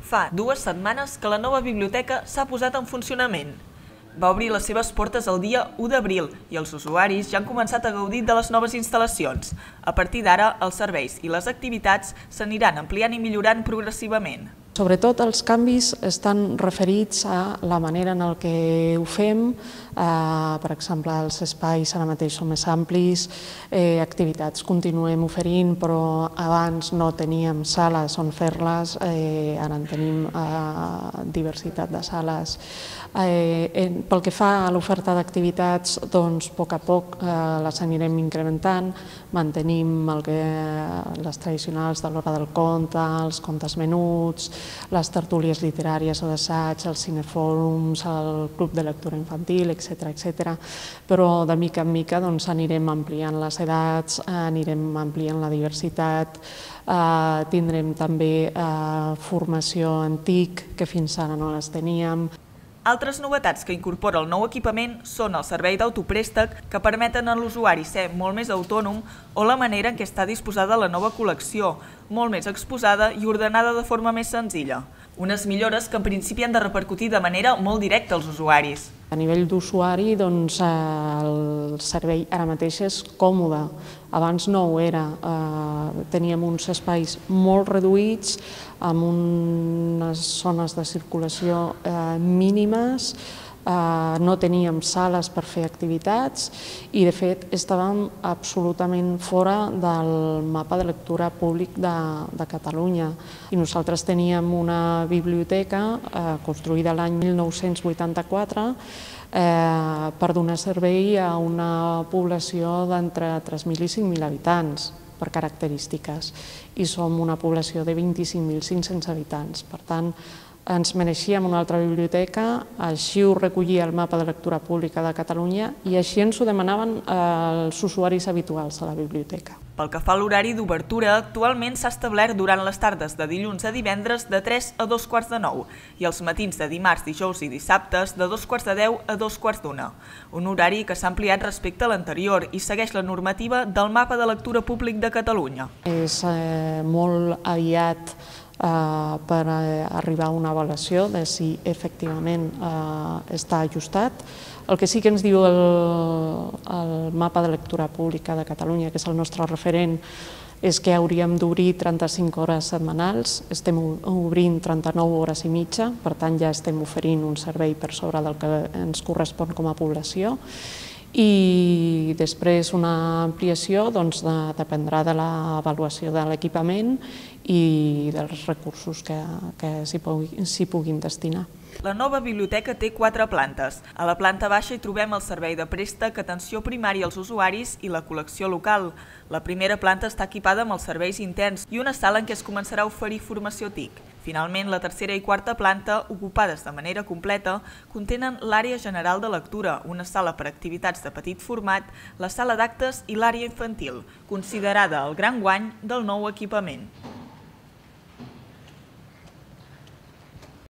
Fa 2 setmanes que la nova biblioteca s'ha posat en funcionament. Va obrir les seves portes el dia 1 d'abril i els usuaris ja han començat a gaudir de les noves instal·lacions. A partir d'ara, els serveis i les activitats s'aniran ampliant i millorant progressivament. Sobretot els canvis estan referits a la manera en què ho fem, per exemple, els espais ara mateix són més amplis, activitats continuem oferint, però abans no teníem sales on fer-les, ara en tenim diversitat de sales. Pel que fa a l'oferta d'activitats, doncs a poc les anirem incrementant, mantenim les tradicionals de l'hora del conte, els contes menuts, les tertúlies literàries o d'assaig, els cinefòrums, el club de lectura infantil, etc. Però de mica en mica anirem ampliant les edats, anirem ampliant la diversitat, tindrem també formació en TIC, que fins ara no les teníem. Altres novetats que incorpora el nou equipament són el servei d'autoprèstec, que permeten a l'usuari ser molt més autònom, o la manera en què està disposada la nova col·lecció, molt més exposada i ordenada de forma més senzilla. Unes millores que en principi han de repercutir de manera molt directa als usuaris. A nivell d'usuari, el servei ara mateix és còmode. Abans no ho era. Teníem uns espais molt reduïts, amb unes zones de circulació mínimes, no teníem sales per fer activitats i, de fet, estàvem absolutament fora del mapa de lectura públic de Catalunya. I nosaltres teníem una biblioteca construïda l'any 1984 per donar servei a una població d'entre 3.000 i 5.000 habitants, per característiques, i som una població de 25.500 habitants. Per tant, ens mereixíem una altra biblioteca, així ho recollia el mapa de lectura pública de Catalunya i així ens ho demanaven els usuaris habituals de la biblioteca. Pel que fa a l'horari d'obertura, actualment s'ha establert durant les tardes de dilluns a divendres de 3 a 2:45 i els matins de dimarts, dijous i dissabtes de 2:10 a 2:15, un horari que s'ha ampliat respecte a l'anterior i segueix la normativa del mapa de lectura públic de Catalunya. És molt aviat per arribar a una avaluació de si efectivament està ajustat. El que sí que ens diu el mapa de lectura pública de Catalunya, que és el nostre referent, és que hauríem d'obrir 35 hores setmanals, estem obrint 39 hores i mitja, per tant ja estem oferint un servei per sobre del que ens correspon com a població. I després una ampliació dependrà de l'avaluació de l'equipament i dels recursos que s'hi puguin destinar. La nova biblioteca té 4 plantes. A la planta baixa hi trobem el servei de préstec, atenció primària als usuaris i la col·lecció local. La primera planta està equipada amb els serveis interns i una sala en què es començarà a oferir formació TIC. Finalment, la tercera i quarta planta, ocupades de manera completa, contenen l'àrea general de lectura, una sala per a activitats de petit format, la sala d'actes i l'àrea infantil, considerada el gran guany del nou equipament.